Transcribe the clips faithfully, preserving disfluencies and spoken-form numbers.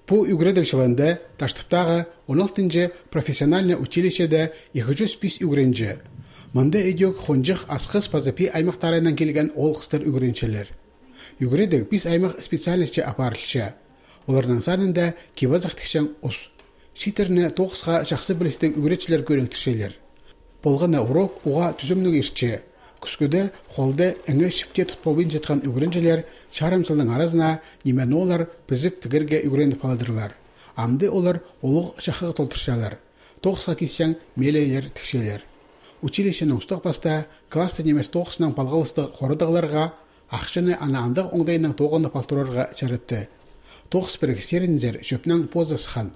Пу ӱгредіг чылында Таштыптағы он алтынҷы профессиональный училищеде ікі чӱс пис ӱгренҷі. Мында ідӧк Хонҷых, Асхыс паза Пии аймахтарынаң килген оол-хыстар ӱгренчелер. Ӱгредіг пис аймах специальностьче апарылча. Оларның санында кип-азах тікчең ус. Чииттерні тоғысха чахсы пілістіг ӱгретчілер кӧріктірчелер. Полған на урок уғаа тӱзімніг иртче. Кӱскӱде холда еңе чіпте тут полбинчатхан ӱгренчелер чарым сылның аразына ниме-ноо ле пізіп тігерге ӱгреніп аладырлар. Амды олар улуғ чахығ толдырчалар. Тоғысха кисчең мелейлер тікчелер. Училищенің устағ пастаа класстығ нимес тоғыснаң палғалыстығ хорадығларға ахчаны ана андағ оңдайнаң тоғынып алтырарға чаратты. Тоғыс пірігістерінзер чӧпнең позы сыххан.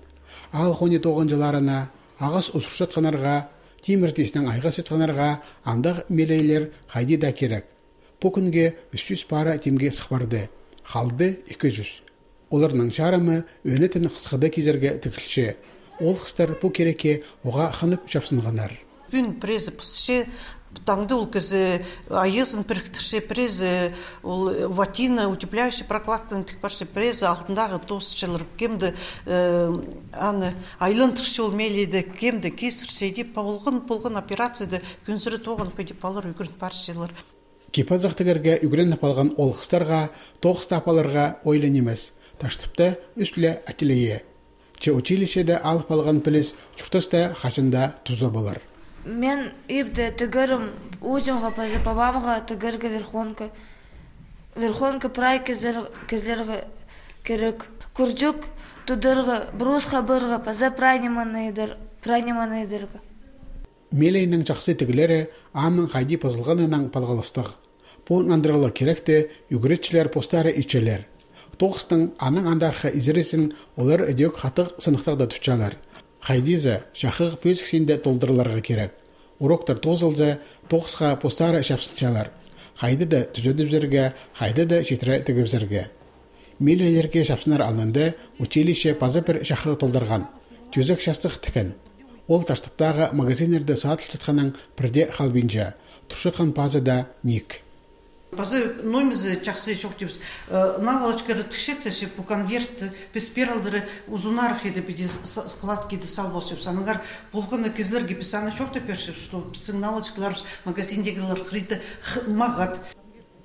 Аал хонии тоғынҷыларына, ағас узурчатханнарға, тимір тиснең айғасчатханнарға андағ мелейлер хайди даа кирек. Пу кӱнге ӱс чӱс пара тимге сых парды. Халды ікі чӱс. Оларның чарымы ӧнетін хысхыда кизерге тігілче. Оол-хыстар пу кирекке уғаа хынып чапсынғаннар. Пӱӱн пірезі пысча, таңда ол кізі айазын піріктірче, пірезі ол ватина, утепляющий прокладканы тік парча, пірезі алтындағы тосчалар, кем-де, э, аны айландырча ол мелейді, кем-де кесірче, тіп, полған, полған операцияда кӧнзіре тоғынып, тіп, алар ӱгрен парчалар. Кип-азах тігерге ӱгреніп алған оол-хыстарға тоғыс тап аларға ойлан нимес. Таштыпта ӱс ле ателье. Че училищеде алып алған піліс чуртаста хаҷан даа туза полар. Мин ибде тігерім узимға паза пабамға тігерге верхонка. Верхонка прай кізер-, кізерге кирек. Курчук тударға, брус хабарға паза прай нимені идер-, прай нимені идерге. Мелейнің чахсы тігілері амның хайди пазылғанынаң палғалыстығ. Пу нандырығлығ киректі ӱгретчілер постары итчелер. Тоғыстың анаң андархы изерізін олар ідӧк хатығ сыныхтағда тутчалар. Хайди за чахығ пӧзік синде толдырыларға кирек. Уроктар тоозылза, тоғысха постары чапсынчалар. Хайди даа тӱзедібізерге, хайди даа читіре тігібізерге. Милиелерге чапсынар алнында училище паза пір чахығ толдырған. Тӧзек частығ тіккен. Ол Таштыптағы магазиннерде садылчатханнаң пірдее халбинча. Турчатхан пазы даа ниик. Паза номизі чахсы чох тибіс. Э, наволочкалар тікчетсе, пу конверт, піс пеер алдыра узунарах иди, піди с-, складкада сал полчабыс. Аннаңар полған на кізілерге піс аны чоохтап пирчебіс, что пістің наволочкаларыбыс магазиндегілер хырыйда х-, мағат.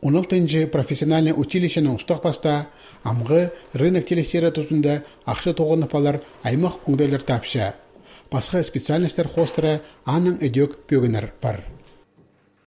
Он алтынҷы профессиональный училищенің устағ пастаа амғы рынок тилестері тузында ахча тоғынып алар аймах оңдайлар тапча. Пасха специальностьтар хоостыра аның ідӧк пӧгіннер пар.